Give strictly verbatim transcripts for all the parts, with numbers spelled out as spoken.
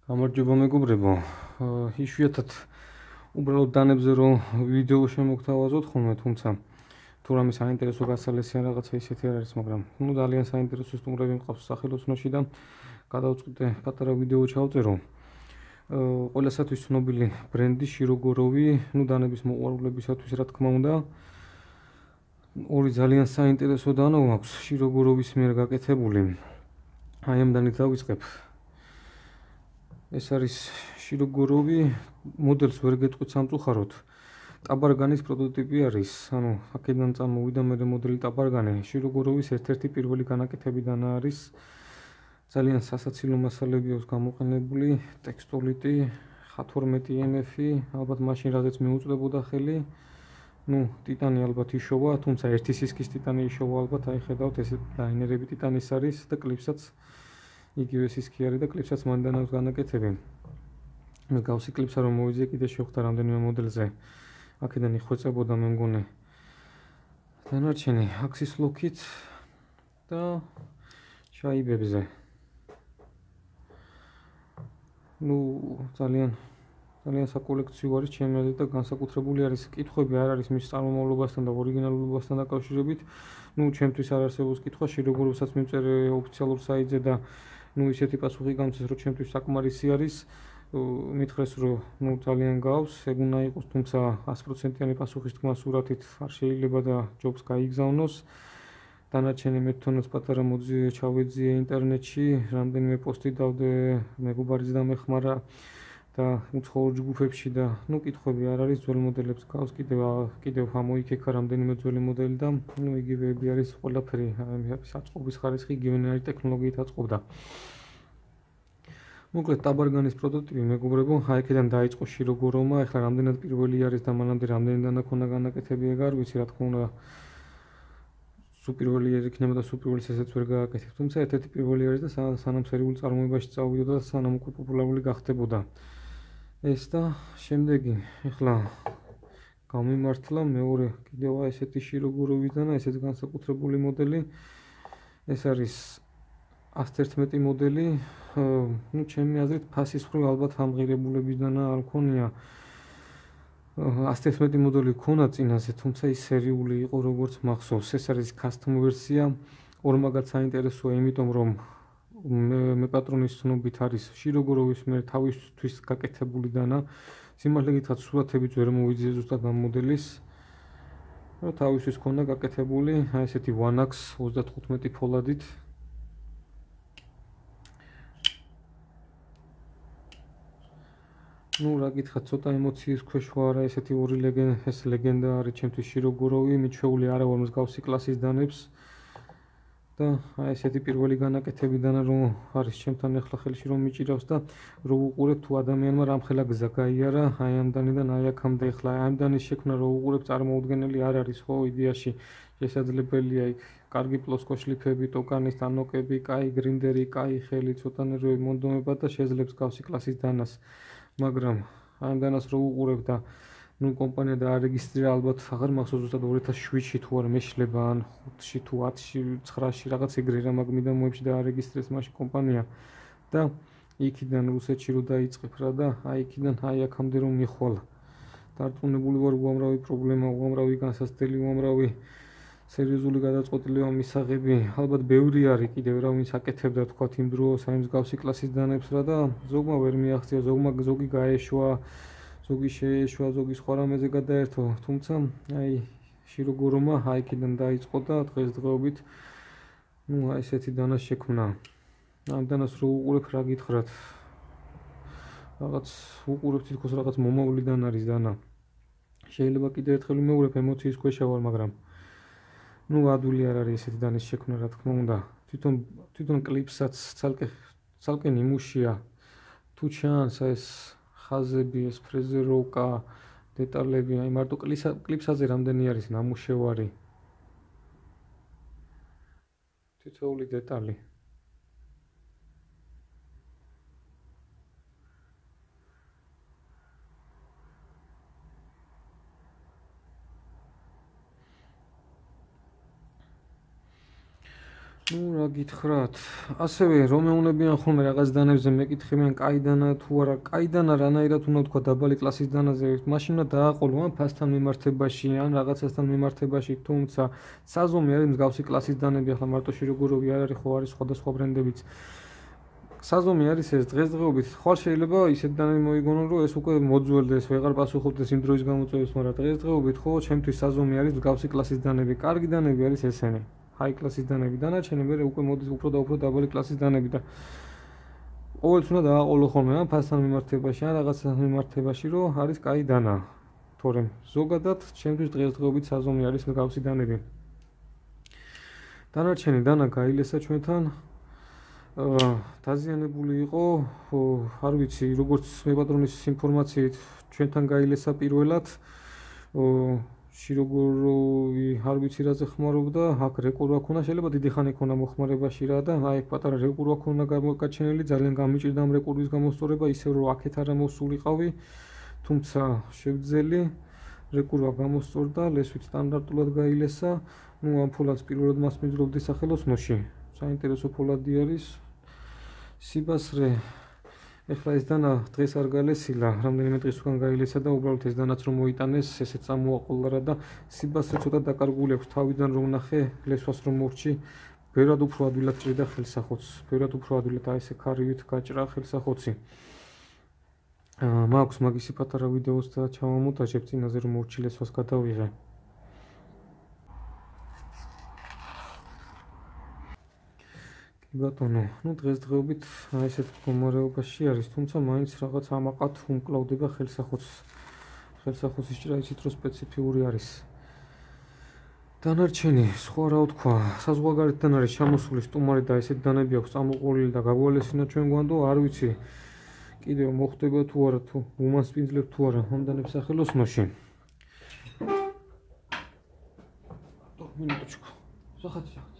გამარჯობა მეგობრებო. იშვიათად უბრალოდ დანებზე რომ ვიდეო შემოგთავაზოთ ხოლმე, თუმცა თუ რამე საინტერესო გასალესიან რაღაცა ისეთი არ არის, მაგრამ ნუ ძალიან საინტერესო სტუმრები მყავს სახელოსნოში და გადავწყვიტე პატარა ვიდეო ჩავწერო. ყველასათვის ცნობილი ბრენდი შიროგოროვი, ნუ დანების მოყვარულებისათვის რა თქმა უნდა. ორი ძალიან საინტერესო დანო აქვს შიროგოროვის მიერ გაკეთებული. აი ამდენი დავიწყებ. ეს არის შიროგოროვი, მოდელს ვერ გეტყვით სამწუხაროდ. ტაბარგანის პროტოტიპი არის, ანუ აქედან წამოვიდა მე მოდელი ტაბარგანი. შიროგოროვის ერთ-ერთი პირველი განაკეთებიდან არის. ძალიან სასაცილო მასალები აქვს გამოყენებული, ტექსტოლიტი, ხ თორმეტი ემ ეფი, ალბათ მაშინ რაზეც მიუწვდებოდა ხელი. ნუ ტიტანი ალბათ იშოვა, თუმცა ერთი სისქის ტიტანი იშოვა ალბათ, აი ხედავთ ეს ლაინერები ტიტანის არის და კლიპსაც იგივე სისქი არის და კლიპსაც მანდან აქვს განაკეთები. მე გავსი კლიპსა რომ მოვიძიე კიდე შევხვდა რამდენიმე მოდელზე. აქედან იხვეწებოდა მე მგონი დანარჩენი აქსის ლოქით და შაიბებზე. ნუ ძალიან ძალიან საკოლექციო არის ჩემი აზრით და განსაკუთრებული არის კითხვები არ არის მის წარმომავლობასთან და ორიგინალობასთან დაკავშირებით. ნუ ჩემთვის არ არსებობს კითხვა, შიროგოროვსაც მივწერე ოფიციალურ საიტზე და ნუ ისეთი პასუხი გამწეს, რომ ჩემთვის საკმარისი არის. მითხრეს, რომ ნუ ძალიან გავს, ეგ უნდა იყოს, თუმცა ათი პროცენტიანი პასუხის თქმა სურათით არ შეიძლება და ჯობს გაიგზავნოს. დანარჩენი მე თვითონაც პატარა მოძიე ჩავეძიე ინტერნეტში, რამდენიმე პოსტი დავდე, მეგობარიც დამეხმარა და უცხოურ ჯგუფებში და ნუ კითხვები არ არის, ძველ მოდელებს გავს, კიდევ კიდევ ამოიქექა რამდენიმე ძველი მოდელი და ნუ იგივეები არის ყველაფერი, საწყობის ხარისხი იგივენაირი ტექნოლოგიით აწყობდა. მოკლედ ტაბარგანის პროტოტიპი მეგობრებო, აი აქედან დაიწყო შიროგოროვმა, ეხლა რამდენად პირველი არის და მანამდე რამდენი დანაქონა განაკეთები ეგ არ ვიცი, რა თქმა უნდა სუპირველი იქნება და სუპირველის ესეც ვერ გააკეთებ, თუმცა ერთ-ერთი პირველი არის და სანამ სერიულ წარმოებაში წავიდოდა და სანამ უკვე პოპულარული გახდებოდა. ეს და შემდეგი, ეხლა გამიმართლა მეორე კიდევ ესეთი შიროგოროვიდან, ესეც განსაკუთრებული მოდელი. ეს არის ათი ერთმეტი მოდელი, ნუ ჩემი აზრით ფასის მხრივ ალბათ ამღირებულებიდან არ მქონია. ათი ერთმეტი მოდელი ქონა წინაზე, თუმცა ის სერიული იყო როგორც მახსოვს. ეს არის custom ვერსია, ორმაგად საინტერესოა, იმიტომ რომ მე პატრონის ცნობით არის შიროგოროვის მიერ თავისთვის გაკეთებული დანა. სიმართლე გითხრათ, სურათებიც ვერ მოვიძიე ზუსტად ამ მოდელის. რა თავისთვის ქონდა გაკეთებული, აი ესეთი one X ოცდათხუთმეტი ფოლადით. ნუ რა გითხრათ, ცოტა ემოციის ქვეშ ვარ, ესეთი ორი ლეგენდა, ეს ლეგენდა არის ჩემთვის შიროგოროვი, მიჩვეული არა ვარ მსგავსი კლასის დანებს. და აი ესეთი პირველი განაკეთებიდან რომ არის ჩემთან ახლა ხელში რომ მიჭირავს და რო უყურებ თუ ადამიანმა რამხელა გზა გაიარა აი ამდანიდან აი აქამდე ახლა აი ამდანის შექმნა რო უყურებ წარმოუდგენელი არ არის ხო იდეაში შესაძლებელია იქ კარგი პლოსკო შლიფები, ტოკანის თანოკები, კაი გრინდერი, კაი ხელი, ცოტანე რო მონდომება და შეძლებს გავსი კლასის დანას, მაგრამ აი ამდანას რო უყურებ და ნუ კომპანია დაარეგისტრირა ალბათ აღარ მახსოვს ზუსტად ორი ათას შვიდში თუ არ მეშლება ან ხუთში თუ ათში ცხრაში რაღაც ეგრე რა მაგმიდან მოებში დაარეგისტრეს მაშინ კომპანია და იქიდან რუსეთში რო დაიწყებ რა და აი იქიდან აი აქამდე რომ მიხვალა. დარწმუნებული ვარ უამრავი პრობლემა, უამრავი განსაცდელი, უამრავი სერიოზული გადაწყვეტილება მისაღები, ალბათ ბევრი არის კიდევ რა ვინც აკეთებდა თქვათ იმ დროს აი მსგავსი კლასის დანებს რა და ზოგმა ვერ მიაღწია, ზოგმა ზოგი გაეშვა, ზოგი შეეშვა, ზოგი სხვა რამეზე გადაერთო, თუმცა აი შიროგოროვმა აი იქიდან დაიწყო და დღესდღეობით ნუ აი ესეთი დანა შექმნა. ამ დანას რო უყურებ რა გითხრათ, რაღაც უყურებ თითქოს რაღაც მომავლიდან არის დანა. შეიძლება კიდევ ერთხელ ვიმეორებ, ემოციის ქვეშ ვარ, მაგრამ ნუ ადვილი არ არის ესეთი დანის შექმნა, რა თქმა უნდა. თვითონ თვითონ კლიპსაც ცალკე ცალკე ნიმუშია. თუ ჩანს ეს ხაზები, ეს ფრეზეროვკა, დეტალები, აი მარტო კლიპსაზე რამდენი არის ნამუშევარი. თითოეული დეტალი. ნუ რა გითხრათ, ასევე რომ მეუნებიან ხოლმე რაღაც დანებზე მეკითხებიან კაი დანა თუ არა, კაი დანა რანაირად უნდა თქვა დაბალი კლასის დანაზე, მაშინ უნდა დააყოლო ან ფასთან მიმართებაში, ან რაღაცასთან მიმართებაში, თუმცა საზომი არის მსგავსი კლასის დანები, ახლა მარტო შიროგუროვი არ არის, ხო არის სხვადასხვა ბრენდებიც. საზომი არის ეს დღესდღეობით, ხვალ შეიძლება ისეთ დანები მოიგონო, რომ ეს უკვე მოძველდეს, ვეღარ პასუხობდეს იმ დროის გამოწვევებს, მაგრამ დღესდღეობით ხო ჩემთვის საზომი არის მსგავსი კლასის დანები, კარგი დანები არის ესენი. high კლასის დანები, დანარჩენი მე უკვე მოდის უფრო და უფრო დაბალი კლასის დანები და ყოველთვის უნდა დააყოლო ხოლმე ან ფასთან მიმართებაში, ან რაღაცასთან მიმართებაში, რომ არის კაი დანა. თორემ ზოგადად ჩემთვის დღესდღეობით საზომი არის მსგავსი დანები. დანარჩენი დანა გაილესა ჩვენთან აა დაზიანებული იყო, არ ვიცი, როგორც მე პატრონის ინფორმაციით ჩვენთან გაილესა პირველად შიროგუროვი არ ვიცი რაზე ხმარობდა, აქ რეკორვა ქონა, შეიძლება დიდი ხანი ქონა მოხმარებაში რა და აი პატარა რეკორვა ქონა გამოგაჩენილი, ძალიან გამიჭირდა ამ რეკორვის გამოსწორება, ისე რომ აქეთ არა მოსულიყავი, თუმცა შევძელი რეკორვა გამოსწორდა, ლესვით სტანდარტულად გაილესა, ნუ ამ ფოლადს პირველად მას მიძლებდი სახელოსნოში. საინტერესო ფოლადი არის. სიბასრე ეხლა ეს დანა დღეს არ გალესილა, რამდენიმე დღის უკან გაილესა და უბრალოდ ეს დანაც რომ მოიტანეს, ესეც წამოაყოლა რა და სიბასრე ცოტა დაკარგული აქვს თავიდან რომ ნახე, ლესვას რომ მორჩი, ბევრად უფრო ადვილად ჭრიდა ხელსახოც, ბევრად უფრო ადვილად აი ესე ქარივით გაჭრა ხელსახოცი. აა მაქვს მაგისი პატარა ვიდეოს და ჩავამონტაჟებ წინაზე რომ მორჩი ლესვას გადავიღე. ბატონო, ну დღესდღეობით აი ესეთ მდგომარეობაში არის, თუმცა მაინც რაღაც ამაყად უმკლავდება ხელსახოც. ხელსახოცის ჭრა ისიც რომ სპეციფიური არის. დანარჩენი, სხვა რა ვთქვა, საზღვარგარეთთან არის ჩამოსული სტუმარი და ესეთ დანები აქვს წამოყოლილი და გაგვალესინა ჩვენ გვანდო, არ ვიცი. კიდევ მოხდება თუ არა, თუ უმასპინძლებ თუ არა ამ დანებს სახელოსნოში. მინუტოჩკო. სახაც სახაც.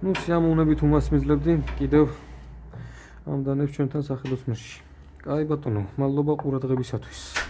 ну სიამოვნებით უმასპინძლებდი კიდევ ამ დანებს ჩვენთან სახელოსნოში. კაი ბატონო, მადლობა ყურადღებისათვის.